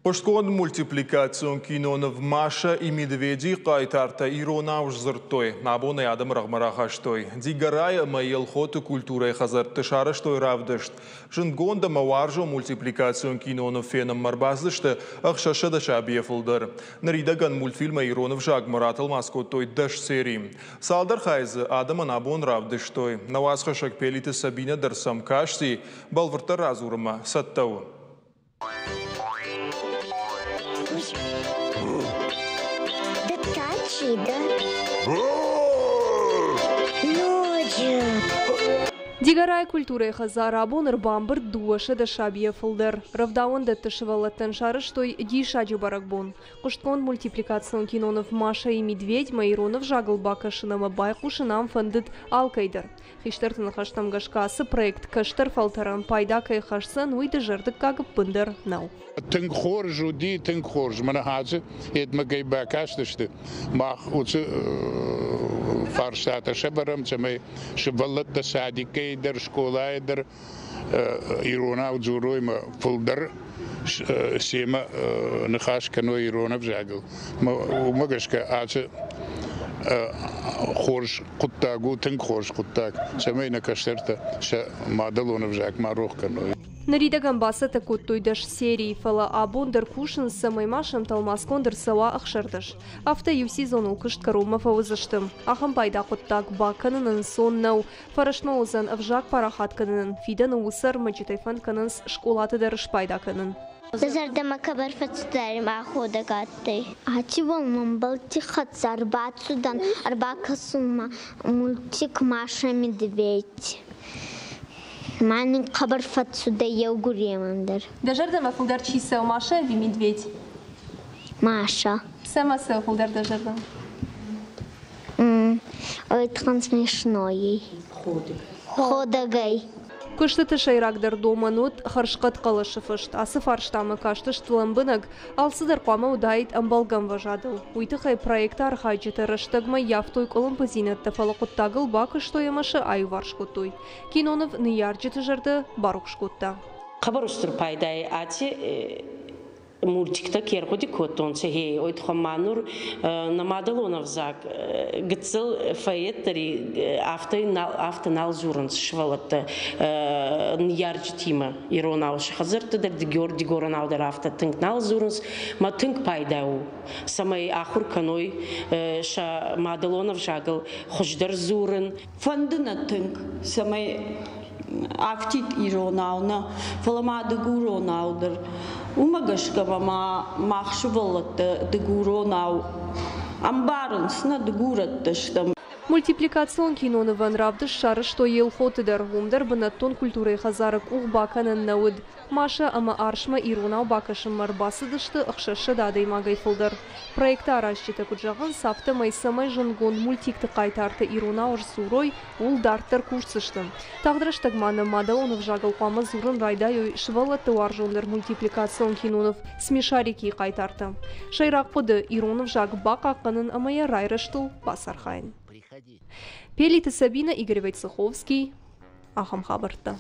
Хъуыстгонд мультипликацион киноныв «Маша и медведи» хъайтартӕ иронау сдзырдтой. Абон ӕй адӕмы рӕгъмӕ рахастой. Дигорайы ӕмӕ Елхоты культурӕйы хӕдзӕртты сарӕзтой равдыст. Зындгонд ӕмӕ уарзон мультипликацион киноныв фенынмӕ ӕрбацыдысты 600 сабийӕ фылдӕр. Ныридӕгӕн мультфильмӕй ирон ӕвзагмӕ ратӕлмац кодтой 10 серийы. Цалдӕр хайы дзы адӕмӕн абон равдыстой. Нӕ уацхӕссӕг Пелиты Сабинӕ дӕр сӕм касти, бӕлвырддӕр радзурынмӕ цӕттӕ у. Ды та чи дӕ? Ноджы. Дигорайы культурӕйы хӕдзар абон ӕрбамбырд 200 сабийӕ фылдӕр. Рӕвдауӕндӕтты сывӕллӕттӕн сарӕзтой диссаджы бӕрӕгбон. Хъуыстгонд мультипликацион киноныв «Маша и медведь»-мӕ ирон ӕвзагыл бакӕсын ӕмӕ байхъусын ам фӕндыд алкӕй дӕр. Хистӕрты ныхӕстӕм гӕсгӕ ацы проект кӕстӕр фӕлтӕрӕн пайда кӕй хӕсдзӕн, уый дызӕрдыггаг ӕппындӕр нӕу. Тынг хорз уыди, тынг хорз. Мӕнӕ ацы едмӕ кӕй бакастысты, мах уыцы фарстатӕ сӕвӕрӕм, цӕмӕй сывӕллӕттӕ садикӕй дӕр, скъолайы дӕр иронау дзурой ӕмӕ фылдӕр семӕ ныхас кӕной ирон ӕвзагыл. Уымӕ гӕсгӕ ацы хорз хъуыддаг у, тынг хорз хъуыддаг, цӕмӕй нӕ кӕстӕртӕ сӕ мадӕлон ӕвзаг ма рох кӕной. Ныридӕгӕн бацӕттӕ кодтой 10 серийы, фӕлӕ абон дӕр кусынц, цӕмӕй ма сӕм тӕлмацгонд ӕрцӕуа 16. Афтӕ иу сезоныл куыст кӕронмӕ фӕуыдзысты. Ахӕм пайда хъуыддаг бакӕнын ӕнцон нӕу. Фӕрӕстмӕ уыдзӕн ӕвзаг парахат кӕнынӕн, фидӕны уыцы ӕрмӕджытӕй фӕнд кӕнынц скъолаты дӕр спайда кӕнын. Зӕрдӕмӕ хъӕбӕр фӕцудӕй ма ходӕг адтӕй. Аци бон мӕмбӕлтти хӕццӕ ӕрбацудан ӕрбакӕсунмӕ мультик «Маша Медведь». Ма нин хъӕбӕр фӕццудӕй еугуремӕн дӕр. Дӕ зӕрдӕмӕ фулдӕр чи цӕуы, Маша ӕви Медведь? Маша. Цӕмӕ цӕуы фулдӕр дӕ зӕрдӕмӕ? Ой, смешной. Ходӕгӕй. Куыстыты сӕйрагдӕр домӕн уыд хӕрзхъӕд хъӕлӕсы фыст. Ацы фарстамӕ кастысты лӕмбынӕг, алцыдӕр хъуамӕ уыдаид ӕмбӕлгӕ ӕмвӕзадыл. Уый тыххӕй проекты архайджытӕ рӕстӕгмӕ ййӕфтой къуылымпыдзинӕдтӕ, фӕлӕ хъуыддагыл бакуыстой ӕмӕ сӕ аиуварс кодтой. Киноныв ныййарджыты зӕрдӕ барухс кодта. Хъӕбӕр устур пайдай аци мультиктӕ ке ргъуди кодтонцӕ, гъе, уой туххӕн ма нур нӕ мадӕлон ӕвзаг гыццыл фӕеддӕри афтӕ нал, афтӕ нал дзурынц сывӕллӕттӕ ныййарджытимӕ иронау сӕ хӕдзӕртты дӕр дигоронау дӕр афтӕ тынг нал дзурынц. Ма тынг пайда у, цӕмӕй ахуыр кӕной сӕ мадӕлон ӕвзагыл хуыздӕр дзурын. Фӕнды нӕ тынг, цӕмӕй афтид иронау нӕ, фӕлӕ ма дыгуронау дӕр. Уымӕ гӕсгӕ ма мах сывӕллӕттӕ дыгуронау ӕмбарынц, нӕ дыгурӕттӕ стӕм. Мультипликацион кинонывӕн равдыст сарӕзтой Елхоты дӕр. Уым дӕр бынӕттон культурӕйы хӕдзары къух бакӕнӕн нӕ уыд. Маша ӕмӕ Арсмӕ иронау бакӕсынмӕ ӕрбацыдысты 600 адӕймагӕй фылдӕр. Проекты аразджытӕ куыд зӕгъынц, афтӕмӕй цӕмӕй зындгонд мультикты хъайтартӕ иронау сдзурой, ууыл дарддӕр кусдзысты. Тагъд рӕстӕг ма нӕ мадӕлон ӕвзагыл хъуамӕ дзурын райдайой сывӕллӕтты уарзондӕр мультипликацион киноныв «Смешарики»-йы хъайтартӕ. Сӕйраг хъуыды – ирон ӕвзаг бахъахъхъӕнын ӕмӕ йӕ райрӕзтыл бацархайын. Пелиты Сабинӕ, Игорь Войцеховский. Ахӕм хабӕрттӕ.